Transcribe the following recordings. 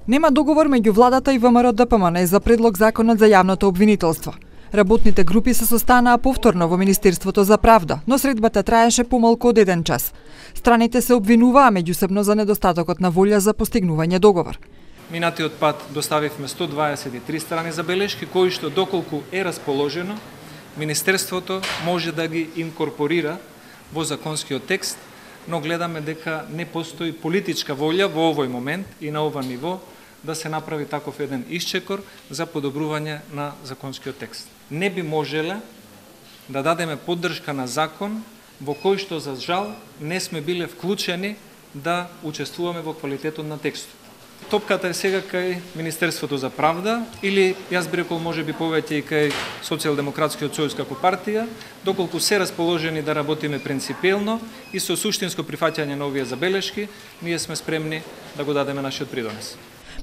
Нема договор меѓу владата и ВМРО-ДПМН за предлог законот за јавното обвинителство. Работните групи се состанаа повторно во Министерството за правда, но средбата траеше помалку од 1 час. Страните се обвинуваа меѓусебно за недостатокот на волја за постигнување договор. Минатиот пат доставивме 123 страни забелешки, кои што доколку е расположено, Министерството може да ги инкорпорира во законскиот текст, но гледаме дека не постои политичка волја во овој момент и на ова ниво да се направи таков еден исчекор за подобрување на законскиот текст. Не би можеле да дадеме поддршка на закон во кој што за жал не сме биле вклучени да учествуваме во квалитетот на текстот. Топката е сега кај Министерството за правда или јас би рекол можеби повеќе и кај Социјалдемократскиот сојуз како партија, доколку се расположени да работиме принципиелно и со суштинско прифаќање на овие забелешки, ние сме спремни да го дадеме нашиот придонес.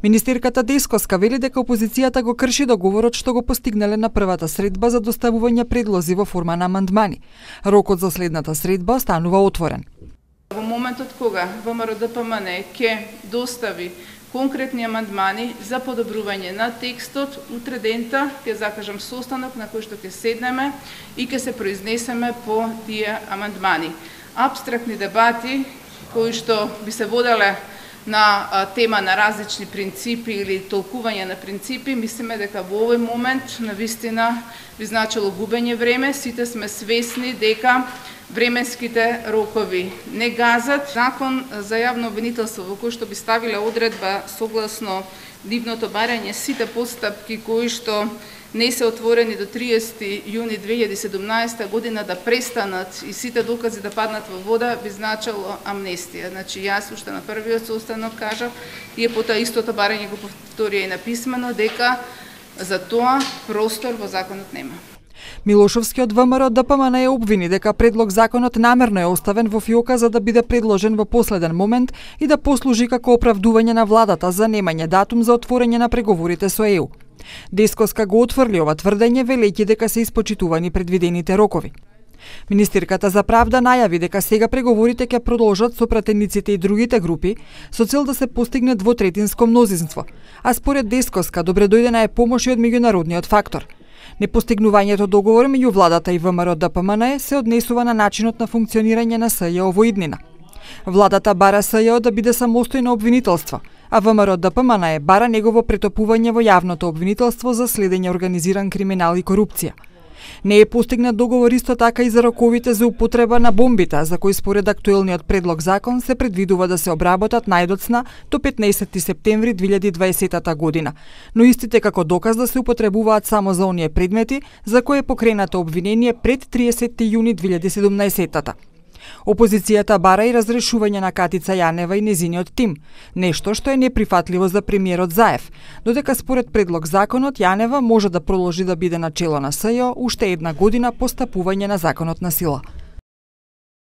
Министерката Десковска вели дека опозицијата го крши договорот што го постигнале на првата средба за доставување предлози во форма на амандмани. Рокот за следната средба останува отворен. Во моментот кога ВМРО-ДПМН ќе достави конкретни амандмани за подобрување на текстот, утре дента ќе закажам состанок на кој што ќе седнеме и ќе се произнесеме по тие амандмани. Апстрактни дебати кои што би се воделе на тема на различни принципи или толкување на принципи, мислиме дека во овој момент навистина би значило губење време. Сите сме свесни дека временските рокови не газат. Закон за јавно обвинителство во кој што би ставила одредба согласно нивното барање сите постапки кои што не се отворени до 30 јуни 2017 година да престанат и сите докази да паднат во вода, би значило амнестија. Значи јас уште на првиот состанок кажав и потоа истото барање го повторија и написмено дека за тоа простор во законот нема. Милошовски од ВМРО-ДПМН ја обвини дека предлог законот намерно е оставен во фиока за да биде предложен во последен момент и да послужи како оправдување на владата за немање датум за отворање на преговорите со ЕУ. Десковска го отфрли ова тврдење велејќи дека се испочитувани предвидените рокови. Министерката за правда најави дека сега преговорите ќе продолжат со пратениците и другите групи со цел да се постигне двотретинско мнозинство, а според Десковска добредојдена е помош и од меѓународниот фактор. Непостигнувањето договор меѓу владата и ВМРО-ДПМН се однесува на начинот на функционирање на СЈО во иднина. Владата бара СЈО да биде самостојно обвинителство, а ВМРО-ДПМН бара негово претопување во јавното обвинителство за следење организиран криминал и корупција. Не е постигнат договор исто така и за роковите за употреба на бомбите, за кои според актуелниот предлог закон се предвидува да се обработат најдоцна до 15 септември 2020 година, но истите како доказ да се употребуваат само за оние предмети за кои е покренато обвинение пред 30 јуни 2017. Опозицијата бара и разрешување на Катица Јанева и незиниот тим, нешто што е неприфатливо за премиерот Заев, додека според предлог законот Јанева може да продолжи да биде на чело на СЈО уште 1 година по стапување на законот на сила.